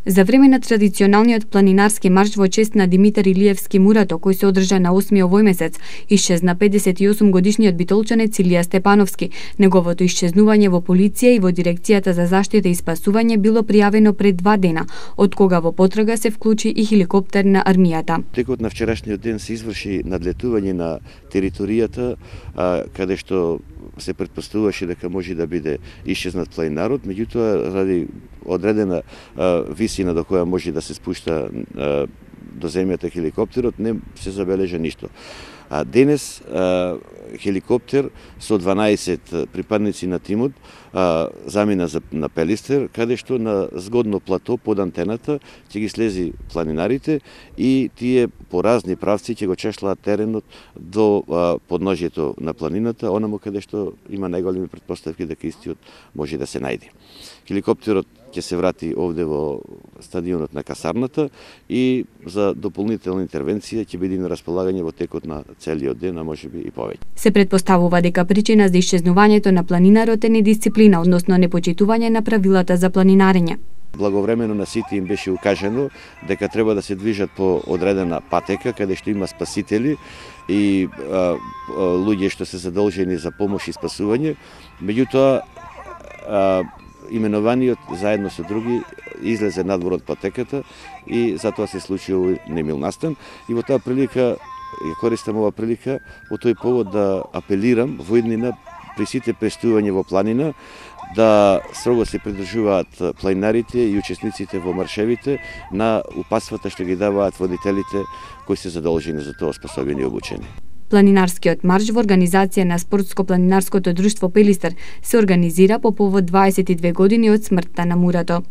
За време на традиционалниот планинарски марш во чест на Димитар Илиевски Мурато, кој се одржа на 8 овој месец, исчезна 58 годишниот битолчанец Илија Степановски. Неговото исчезнување во полиција и во дирекцијата за заштита и спасување било пријавено пред 2 дена, од кога во потрага се вклучи и хеликоптер на армијата. Текот на вчерашниот ден се изврши надлетување на територијата каде што се претпоставуваше дека може да биде исчезнат планинарот, меѓутоа ради одредена висина до која може да се спушта до земјата хеликоптерот, не се забележа ништо. Денес хеликоптер со 12 припадници на тимот замина на Пелистер, каде што на згодно плато под антената ќе ги слези планинарите и тие по разни правци ќе го чешлаат теренот до подножјето на планината, онаму каде што има најголеми претпоставки дека истиот може да се најде. Хеликоптерот ќе се врати овде во стадионот на касарната и за дополнителна интервенција ќе биде на располагање во текот на целиот ден, а можеби и повеќе. Се претпоставува дека причина за исчезнувањето на планинарот е недисциплина, односно непочитување на правилата за планинарење. Благовремено на сите им беше укажано дека треба да се движат по одредена патека каде што има спасители и луѓе што се задолжени за помош и спасување. Меѓутоа именуваниот заедно со други излезе надвор од патеката и затоа се случи овој немил настан. И во таа прилика ја користам ова прилика во тој повод да апелирам во иднина при сите пристигување во планина да строго се придржуваат планинарите и учесниците во маршевите на упатствата што ги даваат водителите кои се задолжени за тоа, способени и обучени. Планинарскиот марш во организација на Спортско-планинарското друштво Пелистер се организира по повод 22 години од смртта на Мурато.